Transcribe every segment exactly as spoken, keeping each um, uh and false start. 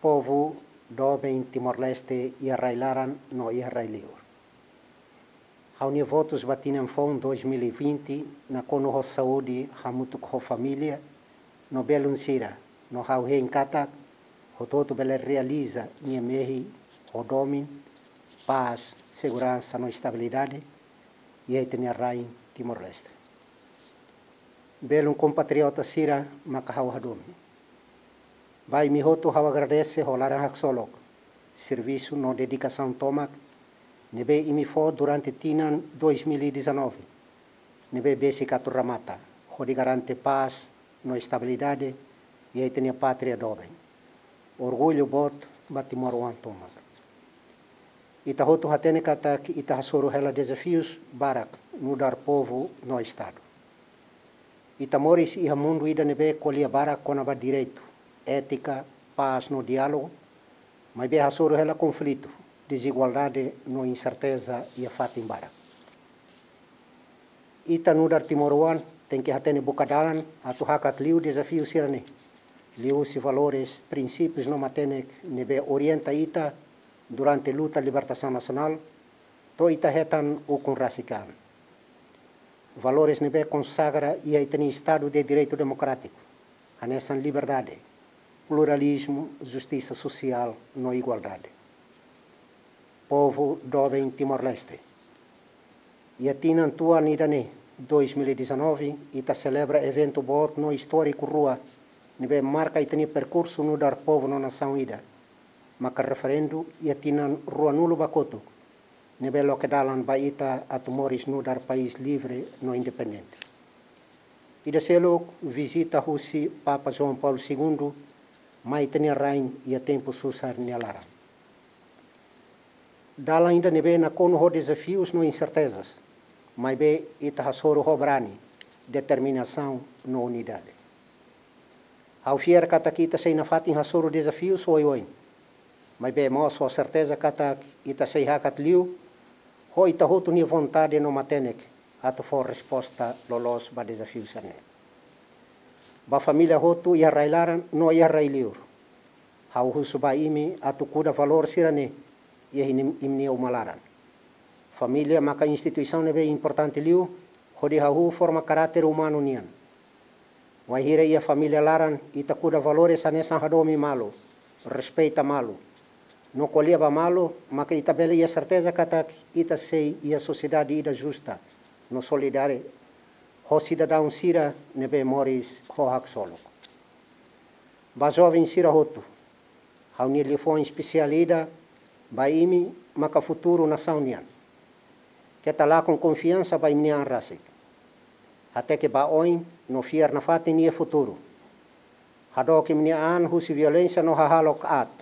Povu doben Timor-Leste iha rai-laran no iha rai-liur. Ha'u-nia votus ba tinan foun dois mil e vinte nakonu ho saúde hamutuk ho família no belun sira, no ha'u hein katak hotu-hotu bele realiza nia mehi ho domin, pás, seguransa no estabilidade iha ita-nia rain Timor-Leste. Belun kompatriota sira maka ha'u hadomi. Ba imi hotu ha'u agradese ho laran haksolok servisu no dedikasaun tomak ne'ebé imi fó durante tinan dois mil e dezanove, ne'ebé besik atu remata, hodi garante pás no estabilidade iha ita-nia pátria doben. Orgullu boot ba timoroan tomak. Ita hotu hatene katak ita hasoru hela dezafius barak nu'udar povu no Estadu. Ita moris iha mundu ida ne'ebé ko'alia barak kona-ba direitu, étika, pás no diálogu, maibé hasoru hela konflitu, dezigualdade no inserteza iha fatin barak. Ita nu'udar timoroan tenke hatene buka dalan atu hakat liu dezafiu sira-ne'e, liuhusi valores, prinsípius no matenek ne'ebé orienta ita durante luta libertasaun nasionál, to'o ita hetan ukun rasik an. Valores ne'ebé konsagra iha ita-nia Estadu de Direitu Demokrátiku, hanesan liberdade, pluralizmu, justisa sosiál no igualdade. Povu doben Timor-Leste. Iha tinan tuan ida-ne'e, dois mil e dezanove, ita selebra eventu boot no istóriku rua ne'ebé marka ita-nia perkursu nu'udar povu no nasaun ida, maka referendu iha tinan ruanulu ba kotuk, ne'ebé loke dalan ba ita atu moris nu'udar país livre no independente. Ida seluk, vizita husi Papa João Paulo Segundo mai ita-nia rain iha tempu susar nia laran. Dalan ida ne'ebé nakonu ho dezafius no insertezas, maibé ita hasoru ho brani, determinasaun no unidade. Ha'u fiar katak ita sei nafatin hasoru dezafius oioin, maibé mós ho serteza katak ita sei hakat liu ho ita hotu nia vontade no matenek atu fó resposta loloos ba dezafiu sira-ne'e. Ba família hotu iha rai-laran no iha rai-liur, ha'u husu ba imi atu kuda valór sira-ne'e iha imi-, imi-nia uma laran. Família maka instituisaun ne'ebé importante liu hodi hahú forma karáter umanu nian. Wainhira iha família laran ita kuda valores hanesan hadomi malu, respeita malu, no ko'alia ba malu, maka ita bele iha serteza katak ita sei iha sosiedade ida justa no solidária ho sidadaun sira ne'ebé moris ho haksolok. Ba joven sira hotu, ha'u-nia liafuan espesiál ida ba imi maka futuru nasaun nian. Keta lakon konfiansa ba imi-nia an rasik. Hateke ba oin no fiar nafatin iha futuru. Hadook imi-nia an husi violénsia no hahalok aat.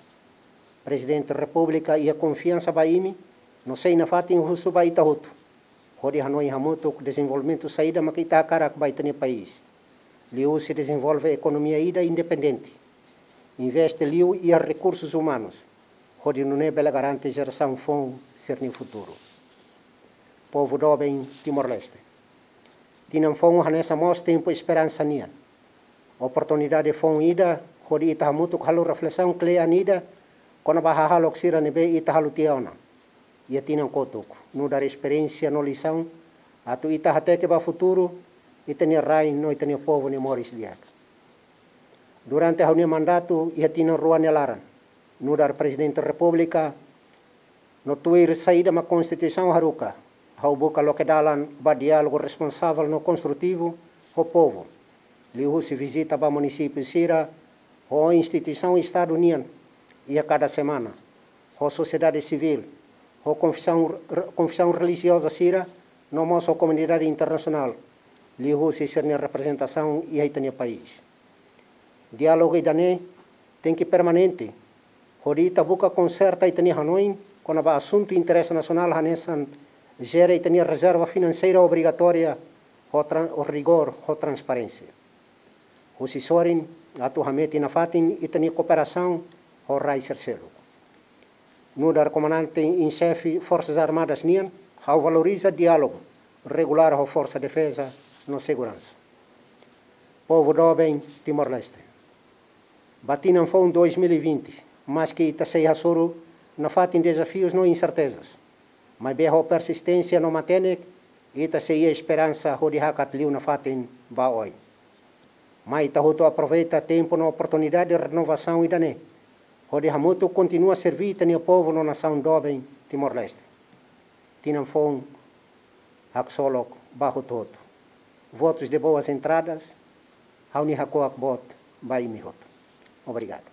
Prezidente Repúblika iha konfiansa ba imi no sei nafatin husu ba ita hotu hodi hanoin hamutuk dezenvolvimentu saida maka ita hakarak ba ita-nia país. Liuhusi dezenvolve ekonomia ida independente. Investe liu iha rekursus umanus, hodi nune'e bele garante jerasaun foun sira-nia futuru. Povu doben Timor-Leste. Tinan foun hanesan mós tempu esperansa nian. Oportunidade foun ida hodi ita hamutuk halo reflesaun kle'an ida kona-ba hahalok sira ne'ebé ita halo tiha ona iha tinan kotuk, nu'udar esperiénsia no lisaun, atu ita hateke ba futuru ita-nia rain no ita-nia povu nia moris di'ak. Durante ha'u-nia mandatu iha tinan rua nia laran nu'udar Prezidente Repúblika, no tuir saida mak Konstituisaun haruka, ha'u buka loke dalan ba diálogu responsavel no konstrutivu ho povu, liuhusi vizita ba munisípiu sira, ho instituisaun Estadu nian iha kada semana, ho sosiedade sivíl, ho konfesaun, konfesaun relijioza sira, no mós ho komunidade internasionál, liuhusi sira-nia reprezentasaun iha ita-nia país. Diálogu ida-ne'e tenke permanente, hodi ita buka konserta ita-nia hanoin kona-ba asuntu interese nasionál hanesan jere ita-nia rezerva finanseira obrigatória ho tran-, ho rigór, ho transparénsia. Husi sorin atu hametin nafatin ita-nia kooperasaun ho rai sira seluk. Nu'udar Komandante em Xefe Forsas Armadas nian, ha'u valoriza diálogu regulár ho Forsa Defeza no Seguransa. Povu doben Timor-Leste. Ba tinan foun dois mil e vinte, Maski ita sei hasoru nafatin dezafius no insertezas, maibé ho persisténsia no matenek, ita sei iha esperansa hodi hakat liu nafatin ba oin. Mai ita hotu aproveita tempu no oportunidade renovasaun ida-ne'e hodi hamutuk kontinua serví ita-nia povu no nasaun doben Timor-Leste. Tinan foun haksolok ba hotu-hotu. Votos de boas entradas, ha'u-nia hakuak boot ba imi hotu. Obrigadu.